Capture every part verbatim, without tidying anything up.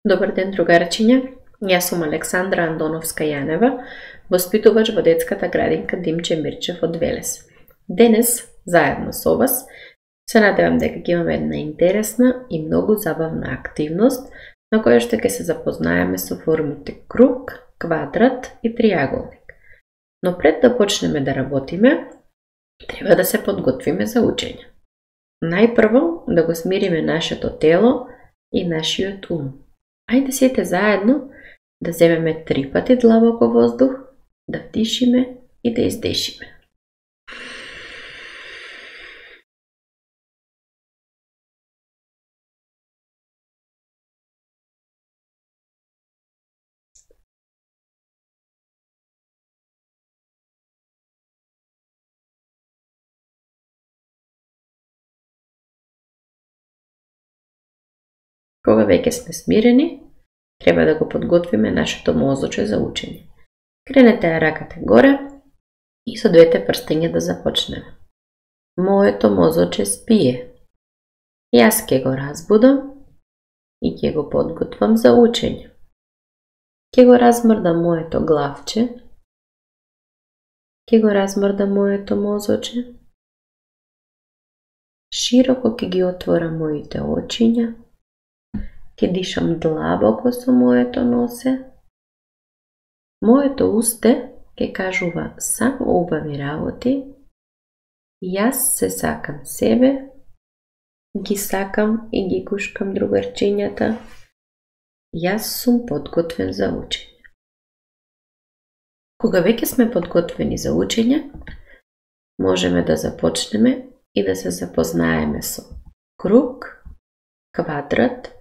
Добар ден, другарчиња. Јас сум Александра Андоновска-Јанева, воспитувач во детската градинка Димче Мирчев од Велес. Денес, заедно со вас, се надевам дека ќе имаме една интересна и многу забавна активност на која што ќе се запознаеме со формите круг, квадрат и триаголник. Но пред да почнеме да работиме, треба да се подготвиме за учење. Најпрво да го смириме нашето тело и нашиот ум. Ајде сите заедно да земеме три пати длабоко воздух, да вдишиме и да издишиме. Кога веќе сме смирени, треба да го подготвиме нашето мозоче за учење. Кренете ја раката горе и со двете прстења да започнеме. Моето мозоче спие. Јас ќе го разбудам и ќе го подготвам за учење. Ќе го размрдам моето главче. Ќе го размрдам моето мозоче. Широко ќе ги отворам моите очиња. Ќе дишам длабоко со моето носе. Моето усте ќе кажува само убави работи. Јас се сакам себе, ги сакам и ги гушкам другарчињата. Јас сум подготвен за учење. Кога веќе сме подготвени за учење, можеме да започнеме и да се запознаеме со круг, квадрат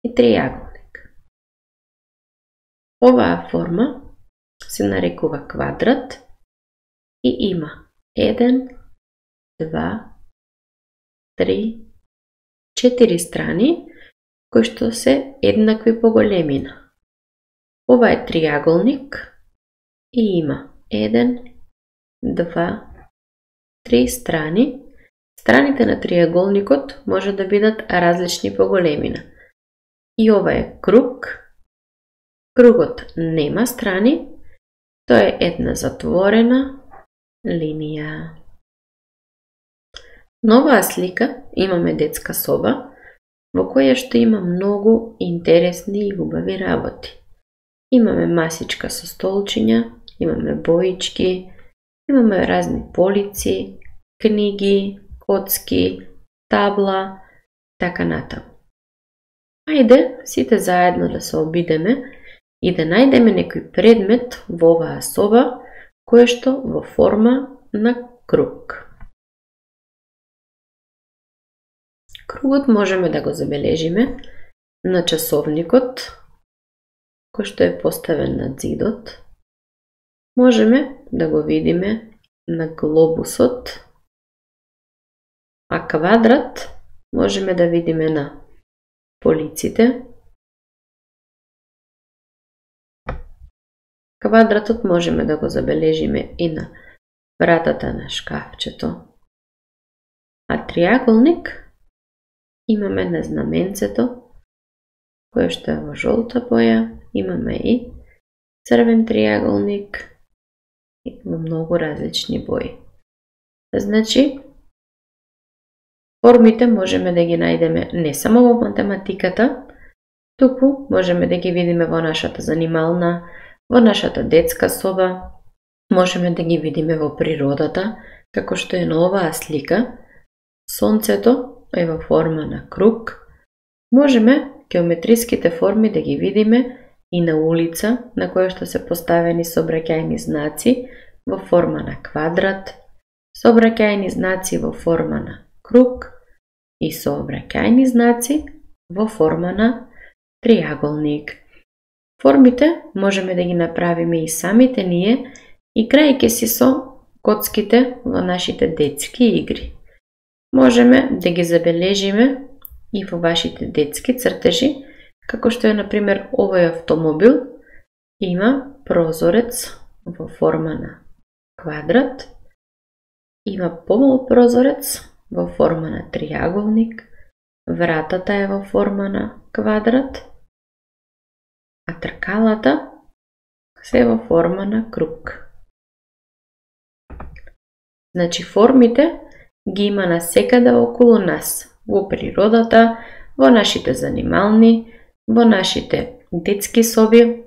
и триаголник. Оваа форма се нарекува квадрат и има еден, два, три, четири страни кои што се еднакви по големина. Ова е триаголник и има еден, два, три страни. Страните на триаголникот може да бидат различни по големина. И ова е круг. Кругот нема страни, тоа е една затворена линија. На оваа слика имаме детска соба, во која што има многу интересни и убави работи. Имаме масичка со столчиња, имаме боички, имаме разни полици, книги, коцки, табла, така натаму. Ајде сите заедно да се обидеме и да најдеме некој предмет во оваа соба кој што во форма на круг. Кругот можеме да го забележиме на часовникот кој што е поставен на ѕидот. Можеме да го видиме на глобусот, а квадрат можеме да видиме на полиците. Квадратот можеме да го забележиме и на вратата на шкафчето. А триаголник имаме на знаменцето, кое што е во жолта боја, имаме и црвен триаголник и во многу различни бои. Значи, формите можеме да ги најдеме не само во математиката, туку можеме да ги видиме во нашата занимална, во нашата детска соба, можеме да ги видиме во природата, како што е на оваа слика. Сонцето е во форма на круг. Можеме геометриските форми да ги видиме и на улица, на која што се поставени сообраќајни знаци во форма на квадрат, сообраќајни знаци во форма на круг и сообраќајни знаци во форма на триаголник. Формите можеме да ги направиме и самите ние, играјќи си со коцките во нашите детски игри. Можеме да ги забележиме и во вашите детски цртежи, како што е, например, овој автомобил има прозорец во форма на квадрат, има помал прозорец во форма на триаголник, вратата е во форма на квадрат а тркалата се во форма на круг. Значи формите ги има насекаде околу нас, во природата, во нашите занимални, во нашите детски соби,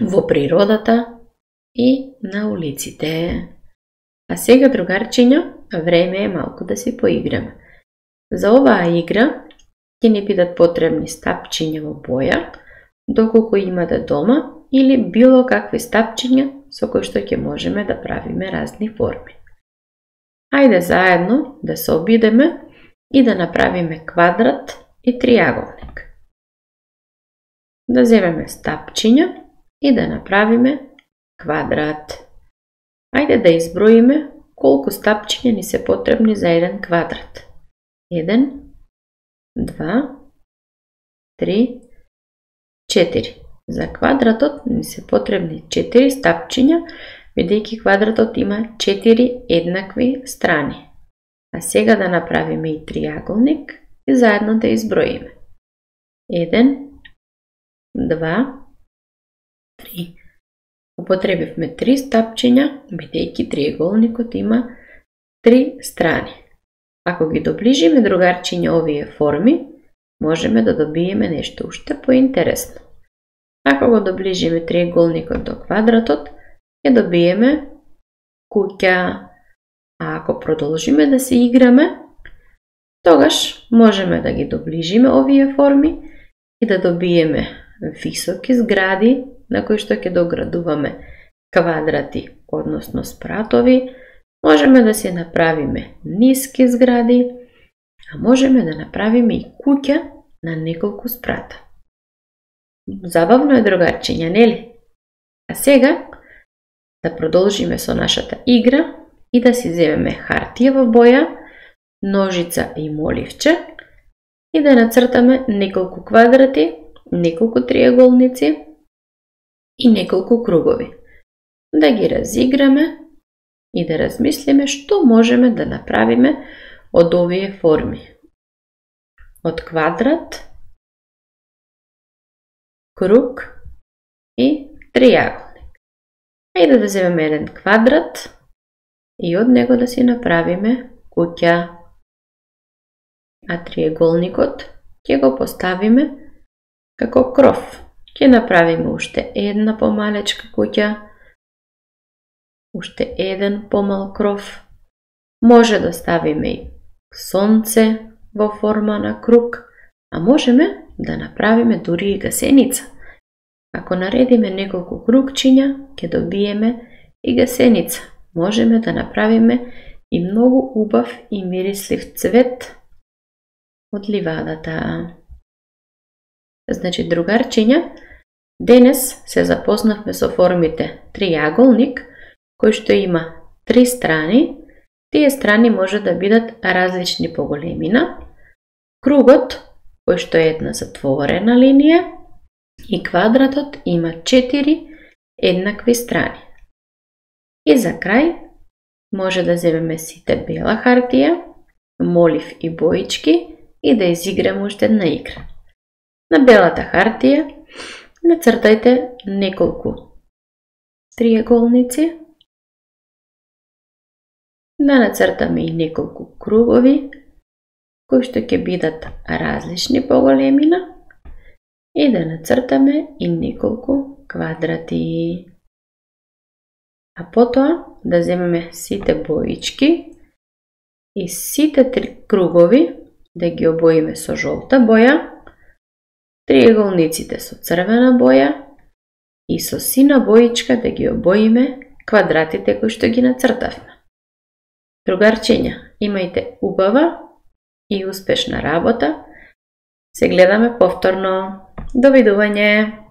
во природата и на улиците. А сега, другарчиња, време е малку да си поиграме. За оваа игра ќе ни бидат потребни стапчиња во боја, доколку имате дома, или било какви стапчиња со кои што ќе можеме да правиме разни форми. Ајде заедно да се обидеме и да направиме квадрат и триаголник. Да земеме стапчиња и да направиме квадрат. Ајде да изброиме колку стапчиња ни се потребни за еден квадрат. еден, два, три, четири. За квадратот ни се потребни четири стапчиња, бидејќи квадратот има четири еднакви страни. А сега да направиме и триаголник и заедно да изброиме. еден, два, три. Употребивме три стапчиња, бидејќи триаголникот има три страни. Ако ги доближиме, другарчиња, овие форми, можеме да добиеме нешто уште поинтересно. Ако го доближиме триаголникот до квадратот, ќе добиеме куќа. А ако продолжиме да се играме, тогаш можеме да ги доближиме овие форми и да добиеме високи згради на кои што ќе доградуваме квадрати, односно спратови. Можеме да се направиме ниски згради, а можеме да направиме и куќа на неколку спрата. Забавно е, другарчиња, нели? А сега да продолжиме со нашата игра и да си земеме хартија во боја, ножица и моливче и да нацртаме неколку квадрати, неколку триаголници и неколку кругови. Да ги разиграме и да размислиме што можеме да направиме од овие форми. Од квадрат, круг и триаголник. Ајде да земеме еден квадрат и од него да си направиме куќа. А триаголникот ќе го поставиме како кров. Ќе направиме уште една помалечка куќа, уште еден помал кров. Може да ставиме и сонце во форма на круг, а можеме да направиме дури и гасеница. Ако наредиме неколку кругчиња, ќе добиеме и гасеница. Можеме да направиме и многу убав и мирислив цвет од ливадата. Значи, другарчиња, денес се запознавме со формите триаголник, кој што има три страни. Тие страни може да бидат различни по големина. Кругот, кој што е една затворена линија, и квадратот има четири еднакви страни. И за крај може да земеме сите бела хартија, молив и боички и да изиграме уште една игра. На белата хартија нацртајте неколку триаголници, да нацртаме и неколку кругови, кои што ќе бидат различни по големина, и да нацртаме и неколку квадрати. А потоа да земеме сите боички и сите три кругови да ги обоиме со жолта боја, триаголниците со црвена боја и со сина боичка да ги обоиме квадратите кои што ги нацртавме. Другарчиња, имајте убава и успешна работа. Се гледаме повторно. Довидување!